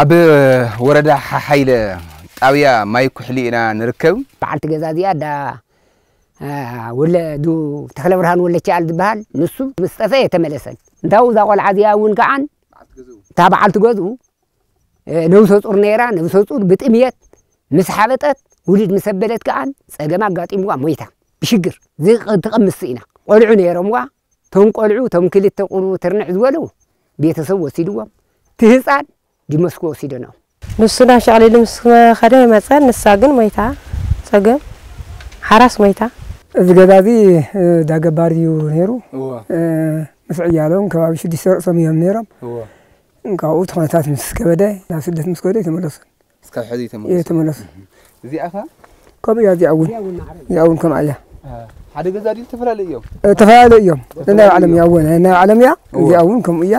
ኣብ ወረዳ ሓሓይለ ጣብያ ማይ ኩሕሊ ኢና ንርከብ። በዓልቲ ገዛ እዚኣ ዳ ወለዱ ተክለ ብርሃን ወለቻል ዝበሃል፣ ንሱ ምስ ጠፈ የተመለሰን። እንታው እዛ ቆልዓ እዚኣ እውን ከዓን እታ በዓልቲ ገዝኡ ነብሰ ጡር ነይራ። ነብሰ ጡር ብጥምየት ምስ ሓበጠት፣ ውልድ ምስ ኣበለት ከዓን ጸገም ኣጋጢምዋ ሞይታ። ብሽግር ትቐምስ ኢና። ቆልዑ ነይሮምዋ። ቶም ቆልዑ፣ ቶም ክልተ ቁሩብ ትርንዕ ዝበሉ ቤተሰብ ወሲድዎም። እቲ ህፃን ዲመስኮ ወሲደኖም። ንሱ ናብ ሸቕሊሉ ምስ ከደ መፀን፣ ንሳ ግን ሞይታ። ፀገም ሓራስ ሞይታ። እዚ ገዛ እዚ ዳገባር እዩ ነይሩ። ምስ ዕያሎም ከባቢ ሽዱሽተ ርእሶም እዮም ነይሮም። ካብኡ እቲ ኩነታት ምስ ከበደ ናብ ስደት ምስ ከደ ተመለሱ። እስካብ ሕዚ እየ ተመለሱ። እዚኣ ከ? ከምኡ እያ። እዚኣ እውን እዚኣ እውን ከምኣ እያ። ሓደ ገዛ ድዩ? ዝተፈላለዩ እዮም። ዝተፈላለዩ እዮም። ናይ ዓለም እያ እውን ናይ ዓለም እያ። እዚኣ እውን ከምኡ እያ።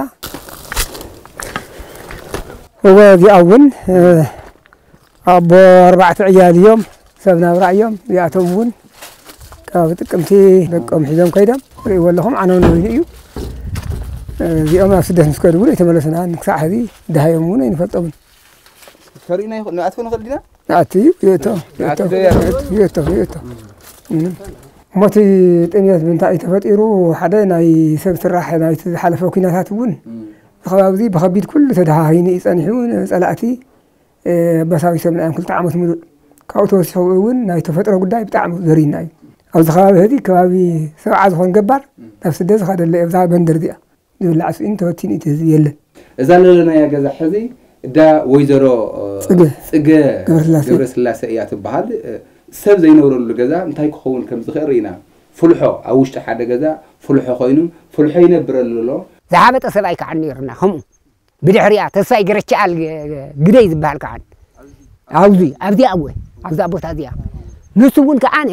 እወ፣ እዚኣ እውን ኣቦ ኣርባዕተ ዕያል እዮም። ሰብ ናብራ እዮም። እዚኣቶም እውን ካብ ጥቅምቲ ደቆም ሒዞም ከይዶም ርእይዎ ኣለኹም። ዓነው ነዊሉ እዩ። እዚኦም ኣብ ስደት ምስ ከዱ እውን ኣይተመለሱና። ክሳዕ ሕዚ ድሃዮም እውን ኣይንፈልጦምን። ከርእዩና ይኽእሉ፣ ንኣትዎ ንኽእል ዲና? ንኣቲ እዩ፣ ይእቶ፣ ንኣቲ ይእቶ፣ ዶ ያለው? ይእቶ፣ ይእቶ፣ ይእቶ። እም። ሞት ጥሜት ምንታይ እዩ ተፈጢሩ? ሓደ ናይ ሰብ ስራሕ ናይቲ ዝሓለፈ ኲናታት እውን እም። እዚ ከባቢ እዚ ብኸቢድ ኩሉ ተደሃሂኑ እዩ ጸኒሑ። ንጸላእቲ፣ እ፣ ኣባሳቢሶምና እዮም ክልተ ዓመት ሙሉእ። ካብኡ ተወሲኹ እውን ናይ ተፈጥሮ ጉዳይ ብጣዕሚ ዘሪና እዩ። ኣብዚ ከባቢ ሕዚ ከባቢ ሰብዓ ዝኾን ገባር እም። ናብ ስደት ዝኸደለ እዩ፣ ኣብዛ መንደር እዚኣ። ዝብላዕ ስኢኑ ተበቲኑ እቲ ህዝቢ የለን። እዛ ዘለናያ ገዛ ሕዚ እዳ ወይዘሮ፣ እ፣ ጽገ ጽገ ገብረስላሴ። ገብረስላሴ እያ ትበሃል። እ፣ ሰብ ዘይነብረሉ ገዛ እንታይ ክኸውን ከም ዝኽእል ርኢና። ፍልሖ ኣብ ውሽጢ ሓደ ገዛ ፍልሖ ኮይኑ፣ ፍልሖ ይነብረሉ ኣሎ። ዝሓበጠ ሰብኣይ ከዓን ነይሩና ከምኡ። ብድሕሪኣ ተስፋይ ገረችኣል ግ-፣ ግደይ ዝበሃል ከዓን። ኣብዚ፣ ኣብዚኣ እወ፣ ኣብዛ ቦታ እዚኣ። ንሱ እውን ከዓነ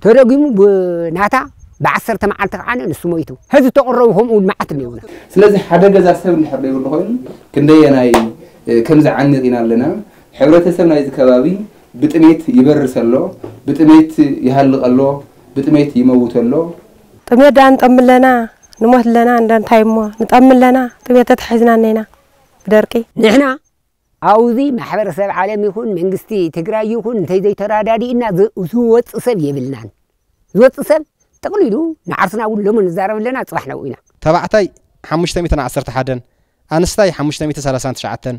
ተደጊሙ ብናታ ብዓሰርተ መዓልቲ ከዓነ ንሱ ሞይቱ። ሕዚ ተቕረቡ ከምኡ እውን መዓት እኒአውና። ስለዚ ሓደ ገዛ ሰብ እንድሕር ዘይብሉ ኮይኑ ክንደየናይ፣ እ፣ ከም ዝዓኒ ርኢና ኣለና። ሕብረተሰብ ናይዚ ከባቢ ብጥሜት ይበርስ ኣሎ፣ ብጥሜት ይሃልቕ ኣሎ፣ ብጥሜት ይመውት ኣሎ። ጥሜት ደኣ ንጠሚ ኣለና፣ ንሞት ኣለና፣ እንዳ እንታይ እሞ ንጠሚ ኣለና፣ ጥሜት ተታሒዝና እኒና ብደርቂ። ንሕና ኣብዚ ማሕበረሰብ ዓለም ይኹን መንግስቲ ትግራይ ይኹን እንተይ ዘይተረዳዲእና ዝ-፣ ዝወፅእ ሰብ የብልናን። ዝወፅእ ሰብ ጠቕሊሉ ንዓርስና እውን ሎሚ ንዛረብ ኣለና፣ ፅባሕ ናብኡ ኢና። ተባዕታይ ሓሙሽተ ሚእትን ዓሰርተ ሓደን፣ ኣንስታይ ሓሙሽተ ሚእትን ሰላሳን ትሽዓተን፣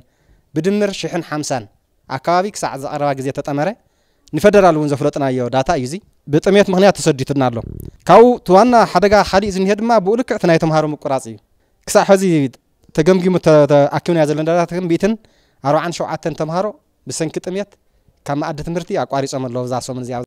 ብድምር ሽሕን ሓምሳን ኣካባቢ ክሳዕ ዝቐረባ ግዜ ተጠመረ። ንፈደራል እውን ዘፍለጥናዮ ዳታ እዩ እዚ። ብጥሜት ምኽንያት ተሰዲቱና ኣሎ። ካብኡ እቲ ዋና ሓደጋ ካሊእ ዝኒሀ ድማ ብኡ ልክዕ እቲ ናይ ተምሃሮ ምቁራፅ እዩ። ክሳዕ ሕዚ ተገምጊሙ ተ-፣ ተኣኪብናዮ ዘለና ዳታ ግን ሚእትን ኣርባዓን ሸውዓተን ተምሃሮ ብሰንኪ ጥሜት ካብ መኣዲ ትምህርቲ ኣቋሪጾም ኣለዉ እዛ ሰሙን እዚኣ።